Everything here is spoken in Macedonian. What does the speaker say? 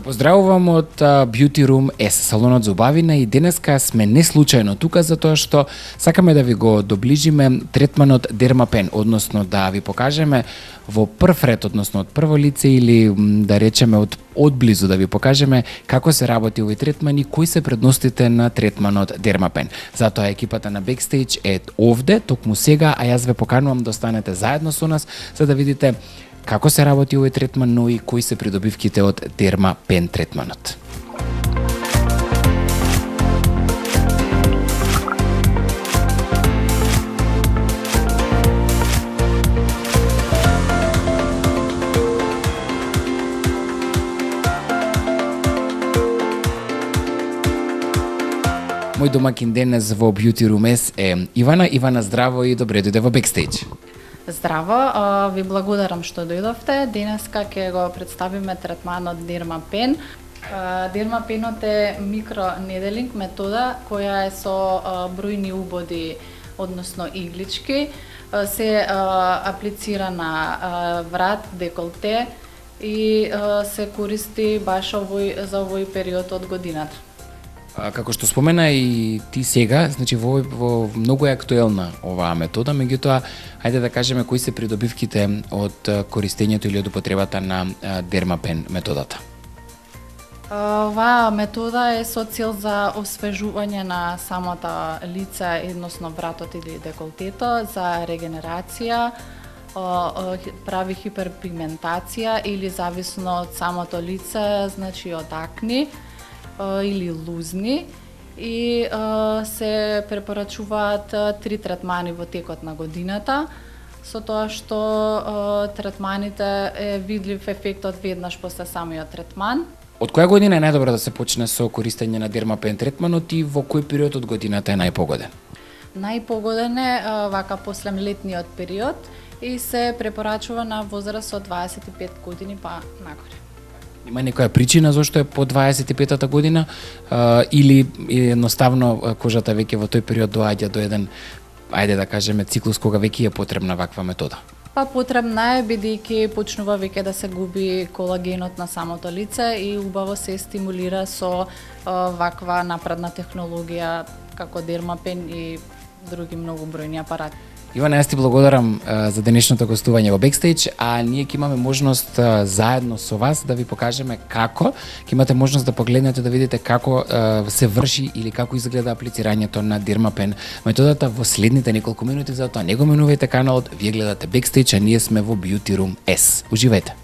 Поздравувам од Beauty Room S, салонот за убавина, и денеска сме не случајно тука затоа што сакаме да ви го доближиме третманот Dermapen, односно да ви покажеме во прв ред, односно од прво лице или да речеме од одблизу да ви покажеме како се работи овој третман и кои се предностите на третманот Dermapen. Затоа екипата на Backstage е овде, токму сега, а јас ве поканувам да останете заедно со нас за да видите како се работи овој третман, но и кои се придобивките од Dermapen третманот. Мој домакин денес во Beauty Room S е Ивана. Ивана, здраво и добре дојде во Backstage. Здраво, ви благодарам што дојдовте. Денеска ќе го представиме третманот Dermapen. Dermapenот е микронеделинг метода која е со бројни убоди, односно иглички. Се аплицира на врат, деколте и се користи баш за овој период од годината. Како што спомена и ти сега, значи во многу е актуелна оваа метода, меѓутоа ајде да кажеме кои се придобивките од користењето или од употребата на Dermapen методата. Оваа метода е со цел за освежување на самото лице, односно вратот или деколтето, за регенерација, прави хиперпигментација или зависно од самото лице, значи од акни или лузни, и се препорачуваат 3 третмани во текот на годината, со тоа што третманите е видлив ефектот веднаш после самиот третман. Од која година е најдобро да се почне со користење на Dermapen третманот и во кој период од годината е најпогоден? Најпогоден е вака после летниот период и се препорачува на возраст од 25 години па нагоре. Има некоја причина зашто е по 25-та година или едноставно кожата веќе во тој период доаѓа до еден, ајде да кажеме, циклус кога веќе е потребна ваква метода? Па потребна е бидејќи почнува веќе да се губи колагенот на самото лице и убаво се стимулира со ваква напредна технологија како Dermapen и други многу бројни апарати. Ивана, јас ти благодарам за денешното гостување во Backstage, а ние ќе имаме можност заедно со вас да ви покажеме како, ќе имате можност да погледнете да видите како се врши или како изгледа аплицирањето на Dermapen методата во следните неколку минути, затоа не го менувајте каналот, вие гледате Backstage, а ние сме во Beauty Room S. Уживајте!